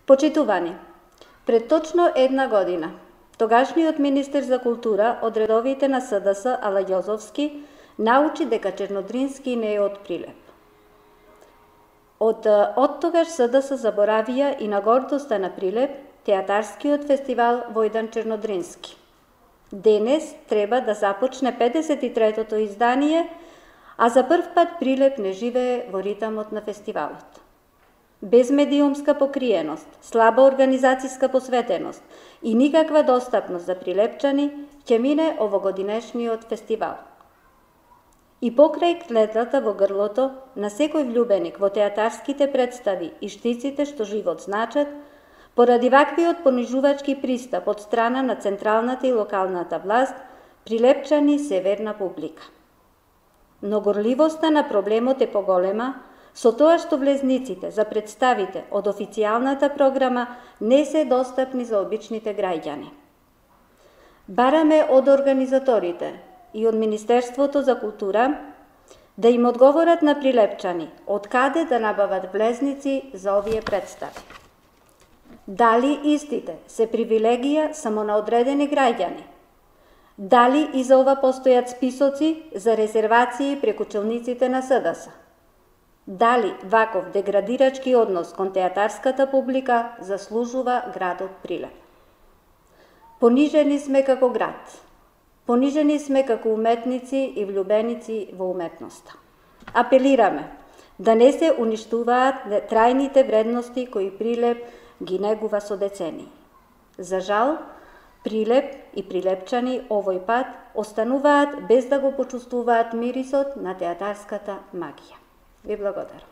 Почитувани, пред точно една година, тогашниот министер за култура од редовите на СДС Ала Ѓозовски научи дека Чернодрински не е од Прилеп. Од тогаш СДС заборавија и на гордоста на Прилеп, театарскиот фестивал Војдан Чернодрински. Денес треба да започне 53-тото издание, а за прв пат Прилеп не живее во ритамот на фестивалот. Без медиумска покриеност, слаба организацијска посветеност и никаква достапност за прилепчани, ќе мине овогодинешниот фестивал. И покрај клетвата во грлото на секој влюбеник во театарските представи и штиците што живот значат, поради ваквиот понижувачки пристап од страна на централната и локалната власт, прилепчани се верна публика. Но горливоста на проблемот е поголема, со тоа што влезниците за представите од официјалната програма не се достапни за обичните граѓани. Бараме од организаторите и од Министерството за култура да им одговорат на прилепчани од каде да набават влезници за овие представи. Дали истите се привилегија само на одредени граѓани? Дали и за ова постојат списоци за резервации преку челниците на СДС? Дали ваков деградирачки однос кон театарската публика заслужува градот Прилеп? Понижени сме како град. Понижени сме како уметници и влюбеници во уметноста. Апелираме да не се уништуваат трајните вредности кои Прилеп ги негува со децении. За жал, Прилеп и прилепчани овој пат остануваат без да го почувствуваат мирисот на театарската магија. Ви благодарам.